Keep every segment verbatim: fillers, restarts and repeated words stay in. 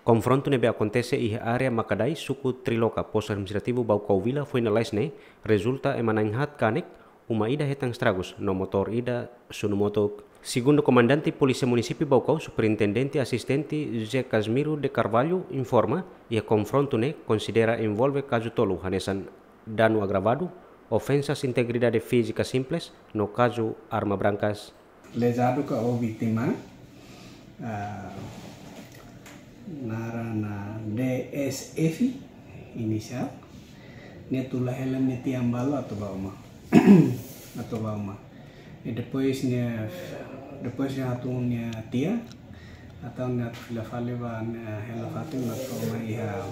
Konfrontu ne'ebé akontese iha área Makadai, suku Triloka, postu administrativu Baucau Vila, foin lalais ne'e, rezulta ema na'in-haat kanek, uma ida hetan estragus, no motór ida, sunu motuk. Segundu Komandante Polísia Munisípiu Baucau, Superintendente Asistente José Casimiro de Carvalho, informa, iha konfrontu ne'e konsidera envolve kazu tolu hanesan danu agravadu, ofensas integridade fízika simples, no kazu arma brankas. Lezadu ka ou vítima, ah, naran D S F inisiál, nia tula hela nia tian balu atu bá uma. Atu bá uma. I depois nia, depois nia atu nia tian, entaun nia atu fila fali ba nia hela fatin atu uma iha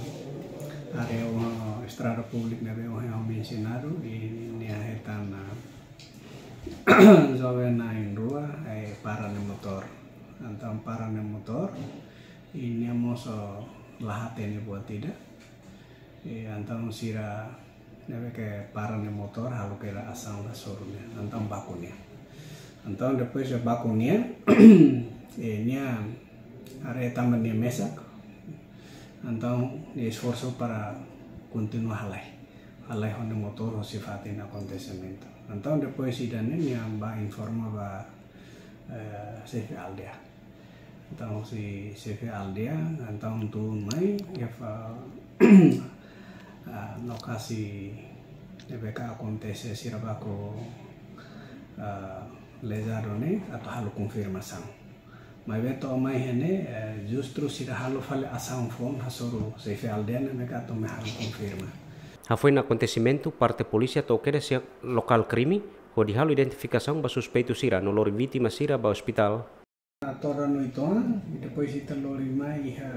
área, ah, estrada públika ne'ebé ohin ha'u mensionadu, i nia hetan, ah, joven na'in-rua, eh, para nia motór. Entaun para nia motór, i nia mós la hatene buat ida. I entaun sira ne'ebé ke para nia motór halo kera asaun hasoru nia. Entaun baku nia. Entaun depois de baku nia, eh, nia haree tanba nia mesak. Entaun nia esforsu para kontinua halai. Halai ho nia motór hosi fatin akontesimentu. Entaun depois ida-ne'e nia bá informa ba, eh, xefe aldeia. Entaun hosi xefe aldeia, entaun tun mai, iha fa-, ah, lokasi ne'ebé ke akontese sira baku, ah, lezadu ne'e, atu halo konfirmasaun. Maibé to'o mai iha ne'e, eh, justru sira halo fali asaun foun hasoru xefe aldeia ne'ebé ke atu mai halo konfirma. Hafoin akontesimentu, parte polísia to'o kedas iha lokál krime, hodi halo identifikasaun ba suspeitu sira no lori vítima sira ba ospitál. Todan no itoan, i depois ita lori mai iha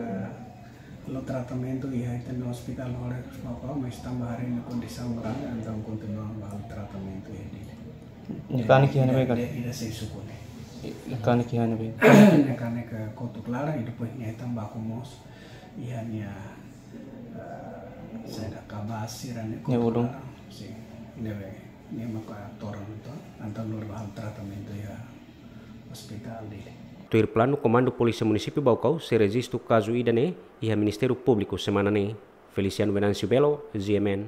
halo tratamentu iha ita-nia ospitál Horas Papua, mas tanba haree nia kondisaun grave, entaun kontinua halo tratamentu iha Dili. Nia kanek iha ne'ebé ka? Ida, ida sei suku ne'e. Nia kanek iha ne'ebé? Nia kanek kotuk laran, i depois nia hetan baku mós iha nia, eh, saida, kabas sira-ne'e, nia kotuk ulun laran. Sin, ne'ebé, nia maka todan no itoan, entaun lori ba halo tratamentu iha ospitál Dili. Tuir planu, Komandu Polísia Munisípiu Baucau sei rejistu kazu ida-ne'e iha Ministériu Públiku semana ne'e. Feliciano Venâncio Belo, G M N.